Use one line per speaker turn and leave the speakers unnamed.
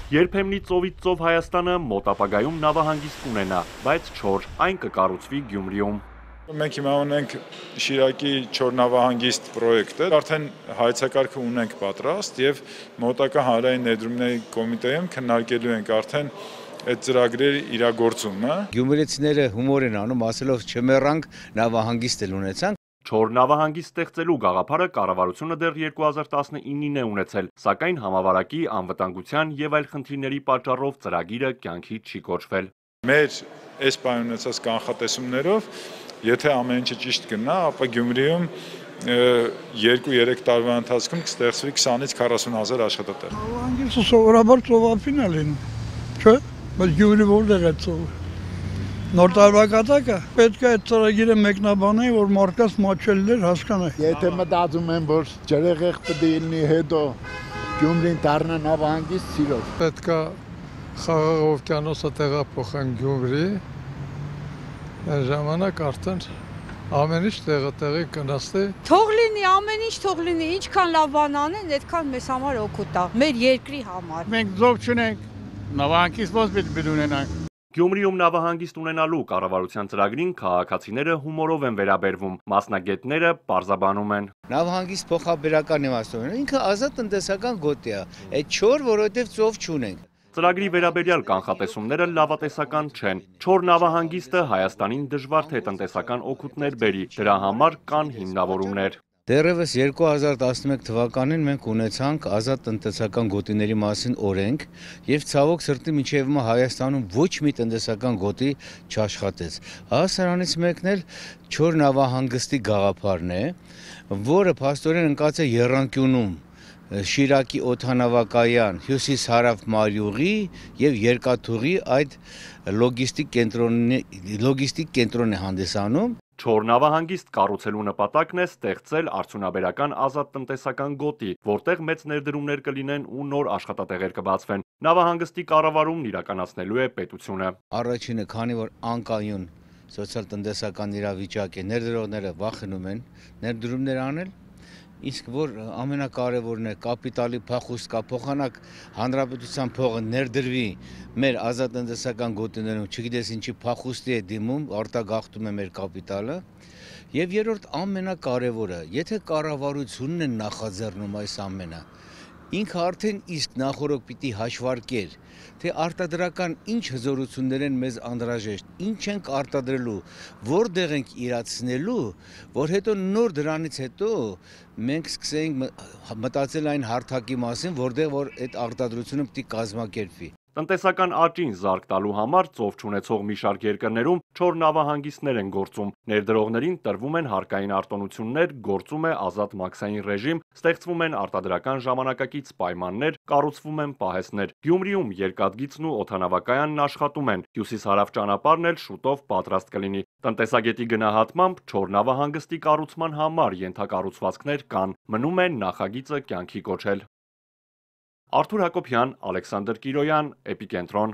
Երբեմնի ծովից ծով Հայաստանը մոտ ապագայում նավահանգիստ կունենա, բայց չոր, այն կկառուցվի Գյումրիում։
Մենք հիմա ունենք Շիրակի չոր նավահանգիստ պրոյեկտը, արդեն հայեցակարգը ունենք պատրաստ եւ մոտակա հանրային ներդրումների կոմիտեում քննարկելու ենք արդեն այդ ծրագրերի իրագործումը։
Գյումրեցիները հումոր են անում, ասելով չմեռանք, նավահանգիստ էլ ունեցանք։
Չոր նավահանգիստ ստեղծելու գաղափարը կառավարությունը դեռ 2019-ին է ունեցել, սակայն համավարակի, անվտանգության եւ այլ խնդիրների պատճառով ծրագիրը կյանքի չի կոչվել։
Մեր այս պայման ունեցած կանխատեսումներով, եթե ամեն ինչը ճիշտ գնա, ապա Գյումրիում 2-3 տարվա ընթացքում կստեղծվի 20-ից 40 հազար աշխատատեղ։
Նավահանգիստը սովորաբար ծովափին է լինում, չէ՞, բայց Գյումրի որտեղ է ծովը։ Նոր տարվա կատակը պետք է այդ ծրագիրը մեկնաբանեի, որ մարդկանց մաչելներ հասկանայի։
Եթե մտածում են, որ ջրեղեղ պետք է լինի հետո Գյումրին դառնա նավահանգիստ սիրով։
Պետք է Խաղաղ օվկիանոսը տեղափոխեն Գյումրի, այդ ժամանակ արդեն ամեն ինչ տեղի կնստի։
Թող լինի, ամեն ինչ թող լինի, ինչքան լավ բան անեն, այդքան մեզ համար օգուտ է, մեր երկրի համար։
Մենք ձով չունենք, նավահանգիստ ոնց պետք է ունենանք։
Գյումրիում նավահանգիստ ունենալու կառավարության ծրագրին քաղաքացիները հումորով են վերաբերվում, մասնագետները պարզաբանում են։
Նավահանգիստ փոխաբերական իմաստով ունեն, ինքը ազատ տնտեսական գոտի է, այդ չոր, որովհետև ծով չունենք։
Ծրագրի վերաբերյալ կանխատեսումները լավատեսական չեն։ Չոր նավահանգիստը Հայաստանին դժվար թե տնտեսական օգուտներ բերի, դրա համար կան հիմնավորումներ։
Դեռևս 2011 թվականին մենք ունեցանք ազատ տնտեսական գոտիների մասին օրենք եւ ցավոք սրտի մինչեւ հիմա Հայաստանում ոչ մի տնտեսական գոտի չաշխատեց։ Սրանից մեկն էլ չոր նավահանգստի գաղափարն է, որը փաստորեն ընկած է եռանկյունում Շիրակի օդանավակայան, Հյուսիս-Հարավ Մարյուղի եւ Երկաթուղի այդ լոգիստիկ կենտրոնն է հանդիսանում։
Չոր նավահանգիստ կառուցելու նպատակն է ստեղծել արդյունաբերական ազատ տնտեսական գոտի, որտեղ մեծ ներդրումներ կլինեն ու նոր աշխատատեղեր կբացվեն։ Նավահանգստի կառավարումն իրականացնելու է պետությունը։
Առաջինը, քանի որ անկայուն սոցիալ-տնտեսական իրավիճակ է, ներդրողները վախենում են ներդրումներ անել, իսկ որ ամենակարևորն է կապիտալի փախուստ կա, փոխանակ հանրապետության փողը ներդրվի մեր ազատ տնտեսական գոտիներում, չգիտես ինչի փախուստի է դիմում, արտագաղթում է մեր կապիտալը, եւ երրորդ ամենակարևորը, եթե կառավարությունն է նախաձեռնում այս ամենը, ինքը արդեն իսկ նախորդ պիտի հաշվարկեր, թե արտադրական ինչ հզորություններ են մեզ անհրաժեշտ, ինչ ենք արտադրելու, որտեղ ենք իրացնելու, որ հետո նոր դրանից հետո մենք սկսենք մտածել այն հարթակի մասին, որտեղ որ այդ արտադրությունը պիտի կազմակերպվի։
Տնտեսական աճին զարկ տալու համար ծով չունեցող մի շարք երկրներում չոր նավահանգիստներ են գործում, ներդրողներին տրվում են հարկային արտոնություններ, գործում է ազատ մաքսային ռեժիմ, ստեղծվում են արտադրական ժամանակակից պայմաններ, կառուցվում են պահեստներ։ Գյումրիում երկաթգիծն ու օդանավակայանն աշխատում են, հյուսիս-հարավ ճանապարհն էլ շուտով պատրաստ կլինի։ Տնտեսագետի գնահատմամբ չոր նավահանգստի կառուցման համար ենթակառուցվածքներ կան, մնում է նախագիծը կյանքի կոչել։ Արթուր Հակոբյան, Ալեքսանդր Կիրոյան, Էպիկենտրոն։